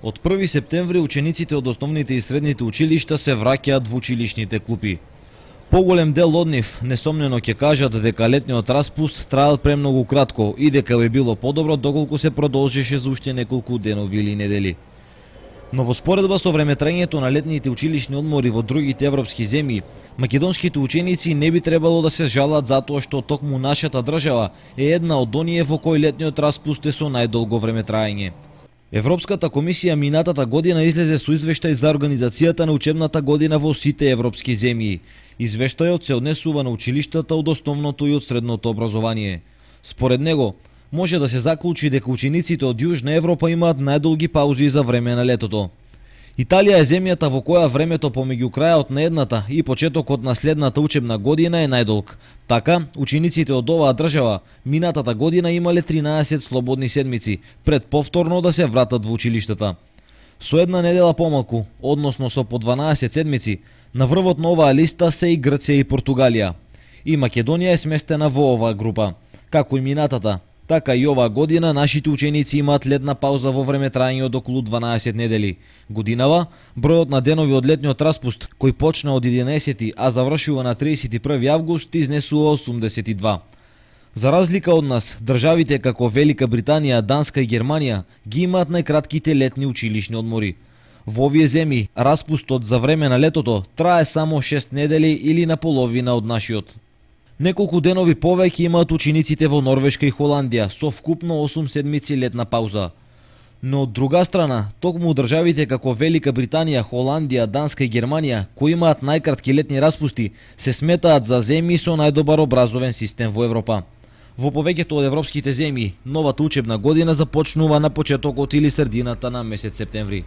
Од 1 септември учениците од основните и средните училишта се враќаат во училишните клупи. Поголем дел од нив несомнено ќе кажат дека летниот распуст траел премногу кратко и дека би било подобро доколку се продолжеше за уште неколку денови или недели. Но во споредба со времетраењето на летните училишни одмори во другите европски земји, македонските ученици не би требало да се жалат затоа што токму нашата држава е една од оние во кој летниот распуст е со најдолго времетраење. Европската комисија минатата година излезе со извештај за организацијата на учебната година во сите европски земји. Извештајот се однесува на училиштата од основното и од средното образование. Според него, може да се заклучи дека учениците од Јужна Европа имаат најдолги паузи за време на летото. Италија е земјата во која времето помеѓу крајот на едната и почетокот на следната учебна година е најдолг. Така, учениците од оваа држава минатата година имале 13 слободни седмици пред повторно да се вратат во училиштата. Со една недела помалку, односно со по 12 седмици, на врвот на оваа листа се и Грција и Португалија. И Македонија е сместена во оваа група. Како и минатата, така и оваа година нашите ученици имаат летна пауза во времетраење од околу 12 недели. Годинава, бројот на денови од летниот распуст, кој почна од 11, а завршува на 31 август, изнесува 82. За разлика од нас, државите како Велика Британија, Данска и Германија ги имаат најкратките летни училишни одмори. Во овие земји, распустот за време на летото трае само 6 недели или на половина од нашиот. Неколку денови повеќе имаат учениците во Норвешка и Холандија, со вкупно 8 седмици летна пауза. Но од друга страна, токму државите како Велика Британија, Холандија, Данска и Германија, кои имаат најкратки летни распусти, се сметаат за земји со најдобар образовен систем во Европа. Во повеќето од европските земји, новата учебна година започнува на почетокот или средината на месец септември.